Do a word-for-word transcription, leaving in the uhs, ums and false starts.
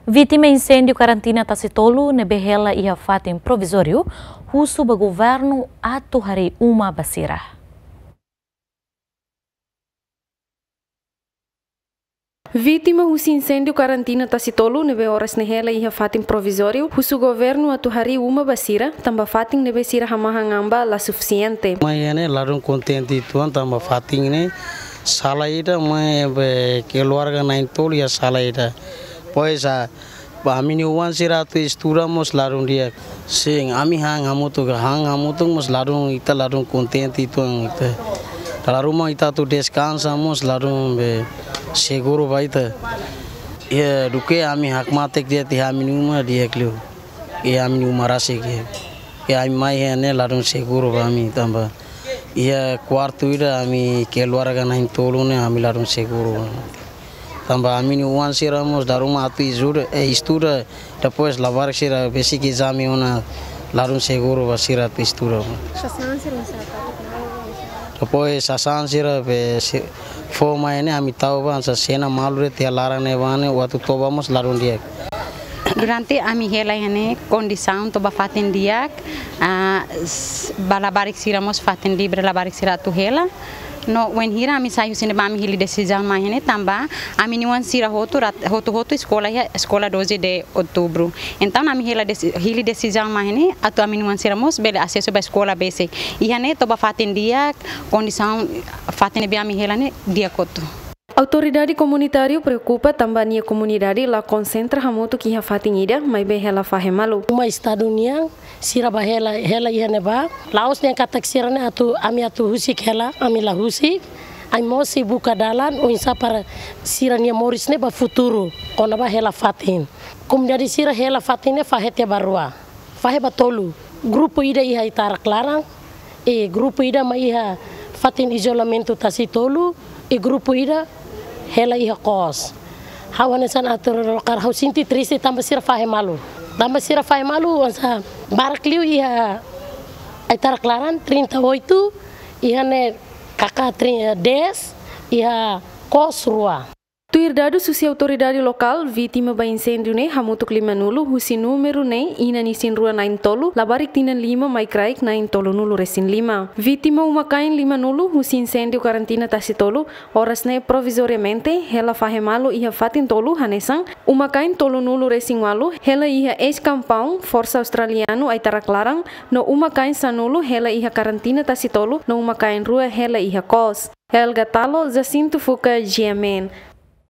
Vítima inséndiu karantina Tasitolu ne'ebé hela iha fatin provizóriu husu ba governu atu harii uma ba sira. Vítima husi inséndiu karantina Tasitolu ne'ebé oras ne'e hela iha fatin provizóriu husu governu atu harii uma ba sira, tanba fatin ne'ebé sira hamahan an ba la sufisiente. Mai ne'e ladún kontente uitoan tanba fatin ne'e sala ida, mai be keluarga na'in-tolu iha sala ida. Pois a, ba ami-nia oan sira atu estuda mós ladún di'ak. Sin, ami han hamutuk, han hamutuk mós ladún, ita ladún kontente uitoan ita. Dala ruma ita atu deskansa mós ladún be seguru ba ita. Iha duké ami hakmatek de'it iha ami-nia uma di'ak liu. Iha ami-nia uma rasik iha. Iha ami mai iha ne'e ladún seguru ba ami tanba iha kuartu ida ami keluarga na'in-tolu ne'e ami ladún seguru. Tanba ami-nia oan sira mós dala ruma atu estuda, eh, estuda, depois labarik sira besik ezame ona ladún seguru ba sira atu estuda. Sasán sira mós atu. Depois sasán sira be si-, fó mai ne'e ami tau ba, hanesan sena malu de'it iha laran ne'ebá ne'e, atu toba mós ladún di'ak. Durante ami hela iha ne'e kondisaun toba fatin di'ak, ah, s-, ba labarik sira mós fatin livre labarik sira atu hela. No wainhira ami sai husi ne'ebá ami hili desizaun mai iha ne'e tanba ami-nia oan sira hotu rat-, hotu-hotu eskola iha Eskola Doze de Outubro. Entaun ami hela desi-, hili desizaun mai iha ne'e atu ami-nia oan sira mós bele asesu ba eskola besik. Iha ne'e toba fatin di'ak, kondisaun fatin ne'ebé ami hela ne'e di'ak hotu. Autoridade komunitáriu preokupa tanba nia komunidade la konsentra hamutuk iha fatin ida, maibé hela fahe malu. Uma Estadu nian, sira bá hela, hela iha ne'ebá. La'ós dehan katak sira ne'e atu, ami atu husik hela, ami la husik. Ami mós sei buka dalan oinsá para sira-nia moris ne'e ba futuru, kona-ba hela fatin. Komunidade sira hela fatin ne'e fahe tiha ba rua. Fahe ba tolu. Grupu ida iha ai-tarak laran, i grupu ida mai iha fatin izolamentu Tasitolu, i grupu ida hela iha kos. Ha'u hanesan ator lokál ha'u sente triste tanba sira fahe malu. Tanba sira fahe malu, hanesan barak liu iha ai-tarak laran trinta e oito, iha ne'e kaka tri-, dez, iha kos rua. Tuir dadus husi autoridade lokál, vítima ba inséndiu ne'e hamutuk limanulu, husi númeru ne'e inan isin-rua na'in-tolu, labarik tinan lima mai kraik na'in-tolunulu-resin-lima. Vítima uma-kain limanulu husi inséndiu karantina Tasitolu, oras ne'e provizoriamente hela fahe malu iha fatin tolu hanesan, uma-kain tolunulu-resin-ualu hela iha eis-kampaun Forsa Australianu ai-tarak laran, no uma-kain sanulu hela iha karantina Tasitolu, no uma-kain rua hela iha kos. Helga Talo, Jacinto Fuca, G M N.